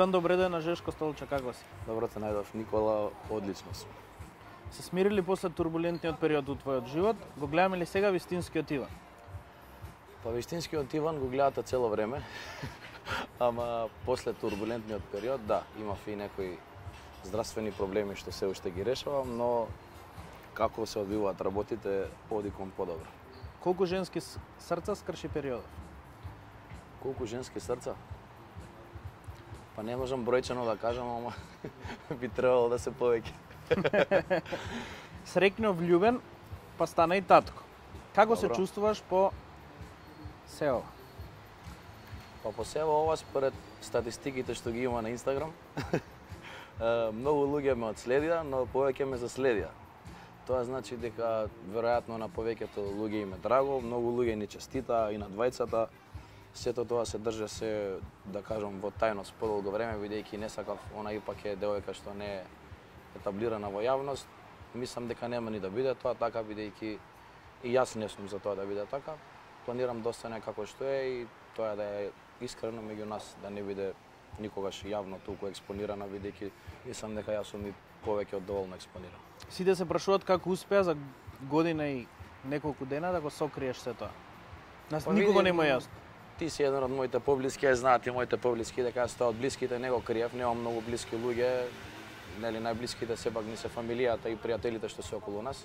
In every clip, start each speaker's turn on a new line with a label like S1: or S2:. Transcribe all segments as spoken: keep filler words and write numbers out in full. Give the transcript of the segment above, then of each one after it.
S1: Иван, добре ден на Жешко Столча, како си?
S2: Добро те најдов, Никола, одлично сум.
S1: Се смирили после турбулентниот период во твојот живот? Го гледаме ли сега вистинскиот Иван?
S2: Па вистинскиот Иван го гледате цело време, ама после турбулентниот период, да, имав и некои здравствени проблеми што се уште ги решавам, но како се одвиваат работите, оди кон подобро.
S1: Колку женски срца скрши периодов?
S2: Колку женски срца? Па не можам бројчано да кажам, ама би требало да се повеќе.
S1: Среќно влюбен, па стана и татко. Како се
S2: Добро.
S1: чувствуваш по се ова?
S2: Па по себе ова, според статистиките што ги има на Инстаграм, многу луѓе ме одследија, но повеќе ме заследија. Тоа значи дека веројатно на повеќето луѓе им е драго, многу луѓе ни честита и на двајцата. Сето тоа се држа се, да кажам, во тајност подолго време, бидејќи не сакав, она ипак е девојка што не е етаблирана во јавност. Мислам дека нема ни да биде тоа така, бидејќи и јас не сум за тоа да биде така. Планирам да остане како што е и тоа да е искрено меѓу нас, да не биде никогаш јавно толку експонирана, бидејќи мислам дека јас сум и повеќе од доволно експониран.
S1: Сите се прашуваат како успеа за година и неколку дена да го сокриеш се тоа. Нас
S2: Па
S1: никого
S2: види,
S1: не му е јасно.
S2: Ти си еден од моите поблиски, ја знаат и моите поблиски, дека јас тоа од блиските не го криев, немам многу блиски луѓе, нели најблиските сепак ни се фамилијата и пријателите што се околу нас.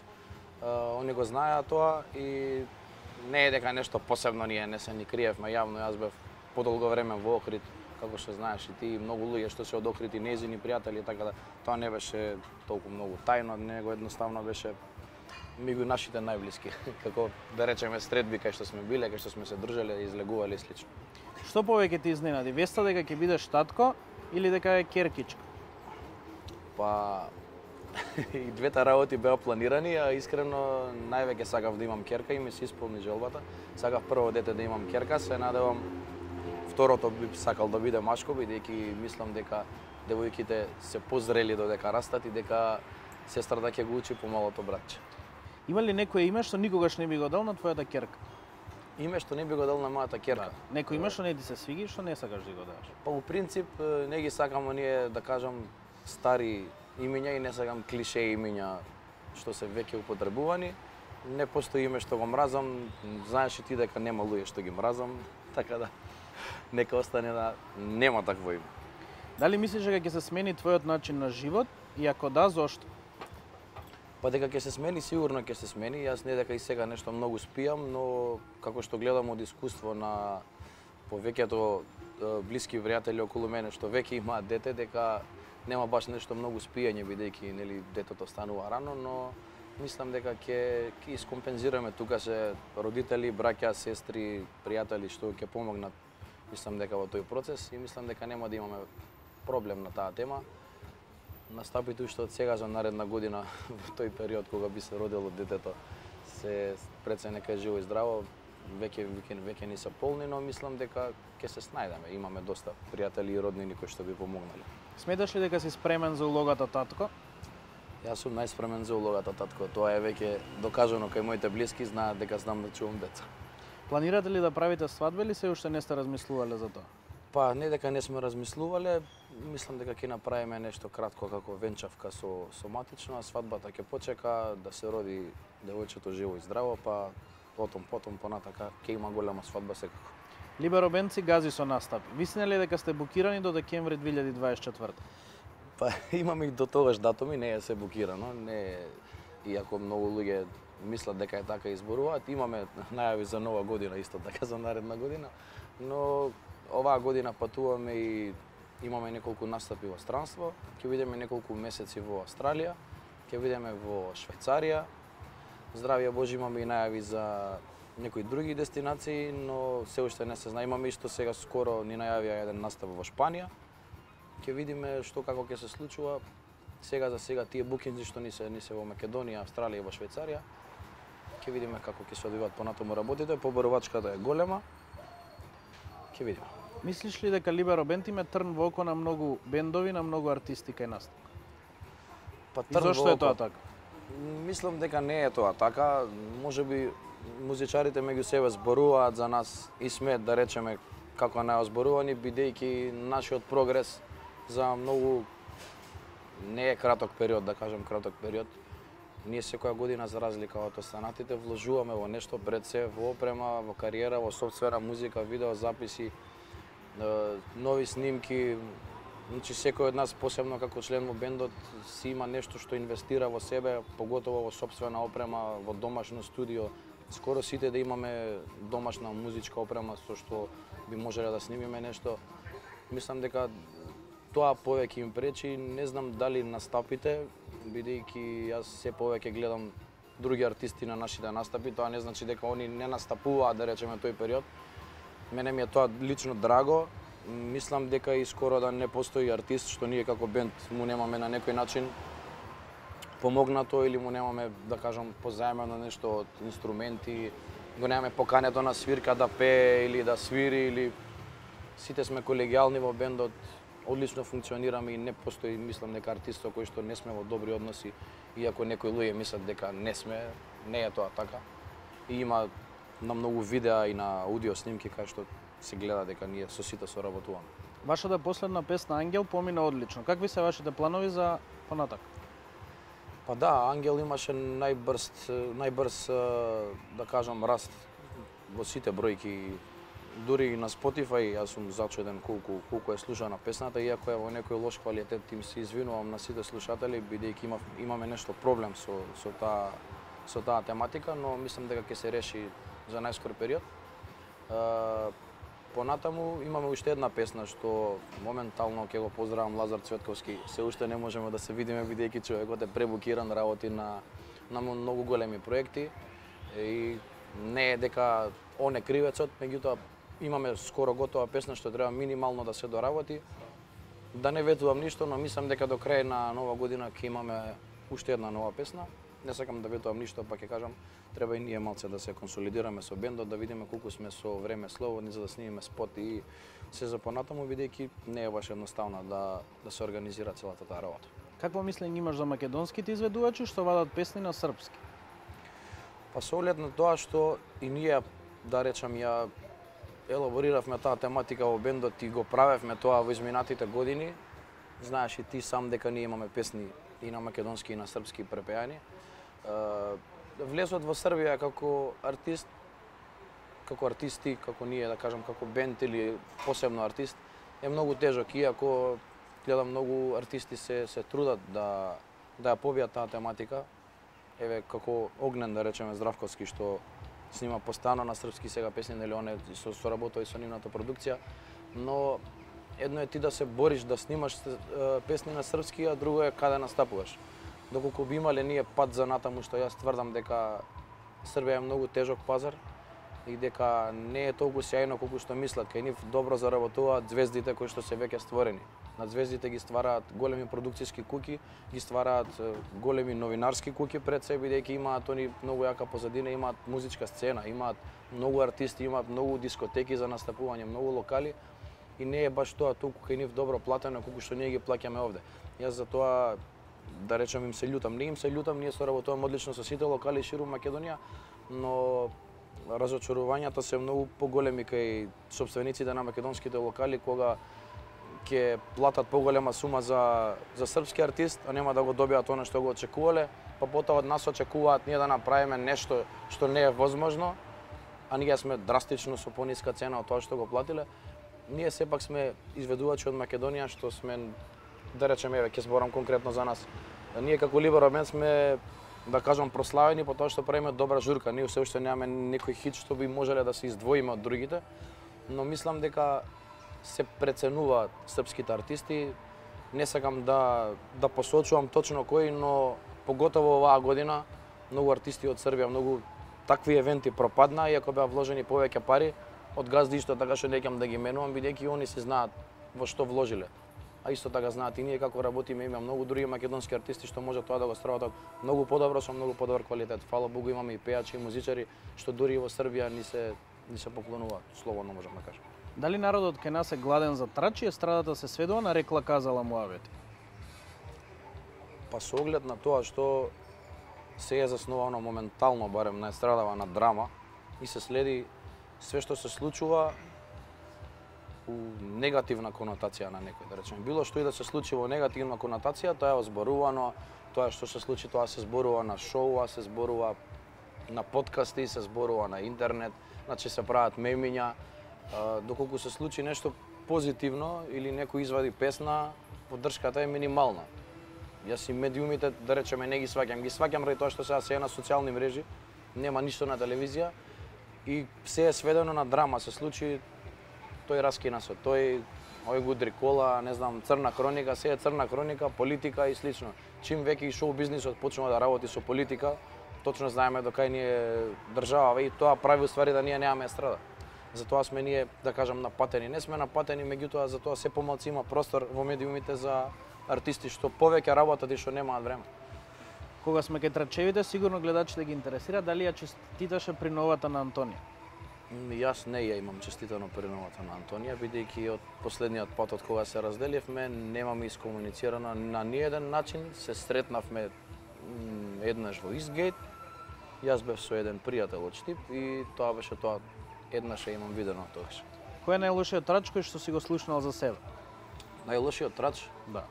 S2: Uh, они го знаеа тоа и не е дека нешто посебно ние не се ни криевме јавно, јас бев подолго време во Охрид, како што знаеш и ти, многу луѓе што се од Охрид и нејзини пријатели, така да тоа не беше толку многу тајно, него едноставно беше меѓу нашите најблиски, како да речеме средби кај што сме биле, кај што сме се дружеле, излегувале и слично.
S1: Што повеќе ти изненади? Веста дека ќе бидеш татко или дека е керкичка?
S2: Па и двете работи беа планирани, а искрено највеќе сакав да имам керка и ми се исполни желбата. Сакав прво дете да имам керка, се надевам второто би сакал да биде машко, бидејќи мислам дека девојките се позрели додека растат и дека сестрата ќе го учи помалото братче.
S1: Има ли некое име што никогаш не би го дал на твојата керка?
S2: Име што не би го дал на мојата керка.
S1: Да. Некој име што не ти се свиги, што не сакаш да го дадеш?
S2: Па у принцип не ги сакам оние, да кажам, стари имиња и не сакам клише имиња што се веќе употребувани. Не постои име што го мразам, знаеш и ти дека нема луѓе што ги мразам, така да нека остане да нема такво име.
S1: Дали мислиш дека ќе се смени твојот начин на живот и ако да, зошто?
S2: Па дека ќе се смени, сигурно ќе се смени. Јас не дека и сега нешто многу спијам, но како што гледам од искуство на повеќето блиски пријатели околу мене што веќе имаат дете, дека нема баш нешто многу спијање, бидејќи нели детето станува рано, но мислам дека ќе ќе искомпензираме. Тука се родители, браќа, сестри, пријатели што ќе помогнат, мислам дека во тој процес и мислам дека нема да имаме проблем на таа тема. Настапите уште од сега за наредна година во тој период кога би се родило детето се пред нека е живо и здраво, веќе веќе веќе ни се полни, но мислам дека ќе се снајдеме. Имаме доста пријатели и роднини кои што би помогнале.
S1: Сметаш ли дека си спремен за улогата татко?
S2: Јас сум најспремен за улогата татко. Тоа е веќе докажано кај моите блиски, знаат дека знам да чувам деца.
S1: Планирате ли да правите свадба или се уште не сте размислувале за тоа?
S2: Па не дека не сме размислувале, мислам дека ќе направиме нешто кратко како венчавка со соматично, а свадбата ќе почека да се роди девојчето живо и здраво, па потом потом понатака ќе има голема свадба секако.
S1: Либеро Бенци гази со настапи. Вистина ли дека сте букирани до декември две илјади дваесет и четврта?
S2: Па имаме и до тогаш датуми, не е се букирано, не е, иако многу луѓе мислат дека е така изборуваат, имаме најави за нова година исто така за наредна година, но оваа година патуваме и имаме неколку настапи во странство, ќе видиме неколку месеци во Австралија, ќе видиме во Швајцарија. Здравје Божи, имаме и најави за некои други дестинации, но се уште не се знае. Имаме исто сега скоро ни најавија еден настап во Шпанија. Ќе видиме што како ќе се случува. Сега за сега тие букинзи што ни се ни се во Македонија, Австралија и во Швајцарија. Ќе видиме како ќе се одвиваат понатаму работите, поборувачката е голема. Ќе видиме.
S1: Мислиш ли дека Либеро Бенд им е трн во око на многу бендови, на многу артисти кај нас?
S2: Па
S1: И зошто е тоа така?
S2: Мислам дека не е тоа така. Можеби музичарите меѓу себе зборуваат за нас и смеат да речеме како најозборувани, бидејќи нашиот прогрес за многу не е краток период, да кажем краток период. Ние секоја година, за разлика од останатите, вложуваме во нешто пред се, во опрема, во кариера, во софтвера, музика, видео, записи, нови снимки. Значи секој од нас, посебно како член во бендот, си има нешто што инвестира во себе, поготово во сопствена опрема, во домашно студио. Скоро сите да имаме домашна музичка опрема со што би можеле да снимиме нешто. Мислам дека тоа повеќе им пречи, не знам дали настапите, бидејќи јас се повеќе гледам други артисти на нашите настапи, тоа не значи дека они не настапуваат, да речеме, тој период. Мене ми е тоа лично драго. Мислам дека и скоро да не постои артист што ние како бенд му немаме на некој начин помогнато или му немаме, да кажам, позаемено нешто од инструменти, го немаме покането на свирка да пее или да свири, или сите сме колегијални во бендот, одлично функционираме и не постои, мислам, дека артист со кој што не сме во добри односи, иако некои луѓе мислат дека не сме, не е тоа така. И има на многу видеа и на аудио снимки кај што се гледа дека ние со сите соработуваме.
S1: Вашата последна песна Ангел помина одлично. Какви се вашите планови за понатак?
S2: Па да, Ангел имаше најбрз, најбрз, да кажам, раст во сите бројки. Дури и на Spotify, јас сум зачуден колку, колку е слушана песната, иако е во некој лош квалитет, им се извинувам на сите слушатели, бидејќи има, имаме нешто проблем со, со, таа, со таа тематика, но мислам дека ќе се реши за најскор период. Понатаму имаме уште една песна што моментално ќе го поздравам Лазар Цветковски. Се уште не можеме да се видиме бидејќи човекот е пребукиран, работи на на многу големи проекти и не е дека он е кривецот, меѓутоа имаме скоро готова песна што треба минимално да се доработи. Да не ветувам ништо, но мислам дека до крај на нова година ќе имаме уште една нова песна. Не сакам да ветувам ништо, па ќе кажам, треба и ние малце да се консолидираме со бендот, да видиме колку сме со време слободни за да снимиме спот и се за понатаму, бидејќи не е баш едноставно да да се организира целата таа работа.
S1: Какво мислење имаш за македонските изведувачи што вадат песни на српски?
S2: Па со оглед на тоа што и ние, да речам, ја елабориравме таа тематика во бендот и го правевме тоа во изминатите години. Знаеш и ти сам дека ние имаме песни и на македонски и на српски препеани. Влезот во Србија како артист, како артисти, како ние, да кажам, како бенд или посебно артист, е многу тежок, иако гледам многу артисти се се трудат да да ја побијат таа тематика. Еве како Огнен, да речеме, Здравковски, што снима постојано на српски сега песни, нели он е со соработува и со нивната продукција, но едно е ти да се бориш да снимаш песни на српски, а друго е каде настапуваш. Доколку би имале ние пат за натаму, што јас тврдам дека Србија е многу тежок пазар и дека не е толку сјајно колку што мислат. Кај нив добро заработуваат звездите кои што се веќе створени. Над звездите ги ствараат големи продукциски куќи, ги ствараат големи новинарски куќи пред себе, бидејќи имаат они многу јака позадина, имаат музичка сцена, имаат многу артисти, имаат многу дискотеки за настапување, многу локали и не е баш тоа толку кај нив добро платено колку што ние ги плаќаме овде. Јас за тоа, да речем, им се љутам. Не им се љутам, ние соработуваме одлично со сите локали ширум Македонија, но разочарувањата се многу поголеми кај сопствениците на македонските локали кога ќе платат поголема сума за за српски артист, а нема да го добијат она што го очекувале, па потоа од нас очекуваат ние да направиме нешто што не е возможно, а ние сме драстично со пониска цена од тоа што го платиле. Ние сепак сме изведувачи од Македонија што сме, да речеме, еве ќе зборам конкретно за нас. Ние како Либеро бенд сме, да кажам, прославени по тоа што правиме добра журка. Ние се уште немаме некој хит што би можеле да се издвоиме од другите, но мислам дека се преценуваат српските артисти. Не сакам да да посочувам точно кои, но поготово оваа година многу артисти од Србија, многу такви евенти пропадна, иако беа вложени повеќе пари од газди, исто така што неќам да ги менувам, бидејќи они се знаат во што вложиле. А исто така знаат и ние како работиме, има многу други македонски артисти што може тоа да го сработат многу подобро со многу подобар квалитет. Фала Богу, имаме и пејачи и музичари што дури и во Србија ни се ни се поклонуваат, слободно можам да кажам.
S1: Дали народот кај нас е гладен за трачи, естрадата се сведува на рекла казала муавети?
S2: Па со оглед на тоа што се е заснувано моментално, барем на естрадава, на драма и се следи све што се случува некаку негативна конотација на некој, да речеме. Било што и да се случи во негативна конотација, тоа е озборувано, тоа што се случи, тоа се зборува на шоуа, се зборува на подкасти, се зборува на интернет, значи се прават мемиња, доколку се случи нешто позитивно или некој извади песна, поддршката е минимална. Јас и медиумите, да речеме, не ги сваќам, ги сваќам ради тоа што сега се е на социјални мрежи, нема ништо на телевизија и се е сведено на драма, се случи, тој раскина се, тој овој го удри кола, не знам, црна хроника, се е црна хроника, политика и слично. Чим веќе и шоу бизнисот почнува да работи со политика, точно знаеме до кај ни е држава и тоа прави уствари да ние немаме естрада. Затоа сме ние, да кажам, напатени. Не сме напатени, меѓутоа затоа се помалку има простор во медиумите за артисти што повеќе работат и што немаат време.
S1: Кога сме кај трчевите, сигурно гледачите ги интересира дали ја честиташе при новата на Антонија.
S2: Јас не ја имам честитано при новата на Антонија, бидејќи од последниот пат од кога се разделивме, немаме искомуницирано на ниеден начин, се сретнавме еднаш во Истгейт. Јас бев со еден пријател од Штип и тоа беше тоа, еднаш ја имам видено тогаш.
S1: Кој е најлошиот трач кој што си го слушнал за себе?
S2: Најлошиот трач?
S1: Да.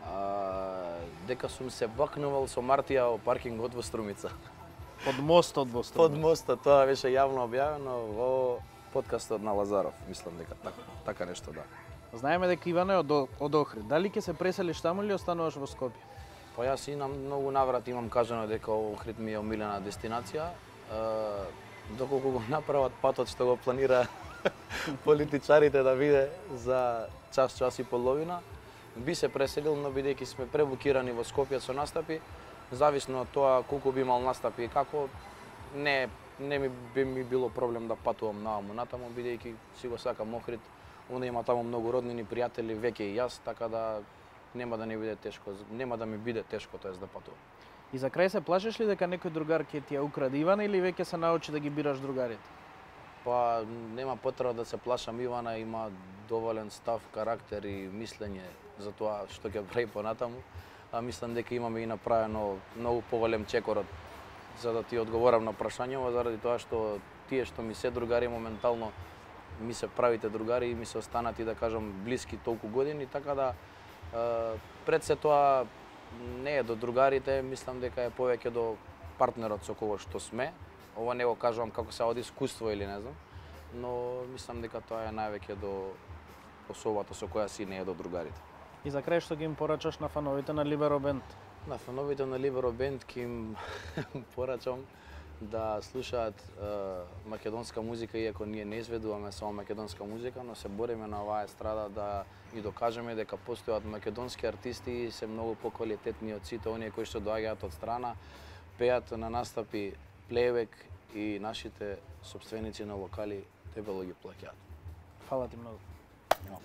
S2: А, дека сум се бакнувал со Мартија во паркингот во Струмица.
S1: Под мостот во Струмица.
S2: Под мостот, тоа беше јавно објавено во подкастот на Лазаров, мислам дека така, така нешто, да.
S1: Знаеме дека Иван е од, од Охрид. Дали ќе се преселиш таму или остануваш во Скопје?
S2: Па јас и на многу наврати имам кажано дека Охрид ми е омилена дестинација. Uh, доколку го направат патот што го планира политичарите да биде за час, час и половина, би се преселил, но бидејќи сме пребукирани во Скопје со настапи, зависно од тоа колку би имал настапи и како, не, не ми би ми било проблем да патувам наваму натаму, бидејќи си го сакам Охрид, онда има таму многу роднини, пријатели, веќе и јас, така да нема да не биде тешко, нема да ми биде тешко, тоест да патувам.
S1: И за крај се плашиш ли дека некој другар ќе ти ја украде Ивана или веќе се научи да ги бираш другарите?
S2: Па нема потреба да се плашам, Ивана има доволен став, карактер и мислење за тоа што ќе прави понатаму, а мислам дека имаме и направено многу поголем чекор за да ти одговорам на прашањето, заради тоа што тие што ми се другари моментално ми се правите другари и ми се останати, да кажам, блиски толку години, така да пред се тоа не е до другарите, мислам дека е повеќе до партнерот со кого што сме. Ова не го кажувам како се од искуство или не знам, но мислам дека тоа е највеќе до особата со која си, не е до другарите.
S1: И за крај што ги им порачаш на фановите на Либеро Бенд?
S2: На фановите на Либеро Бенд ќе им порачам да слушаат е, македонска музика, иако ние не изведуваме само македонска музика, но се бориме на оваа естрада да и докажеме дека постојат македонски артисти и се многу поквалитетни од сите оние кои што доаѓаат од страна, пеат на настапи плейбек и нашите сопственици на локали дебело ги плаќаат.
S1: Фала ти многу.
S2: No.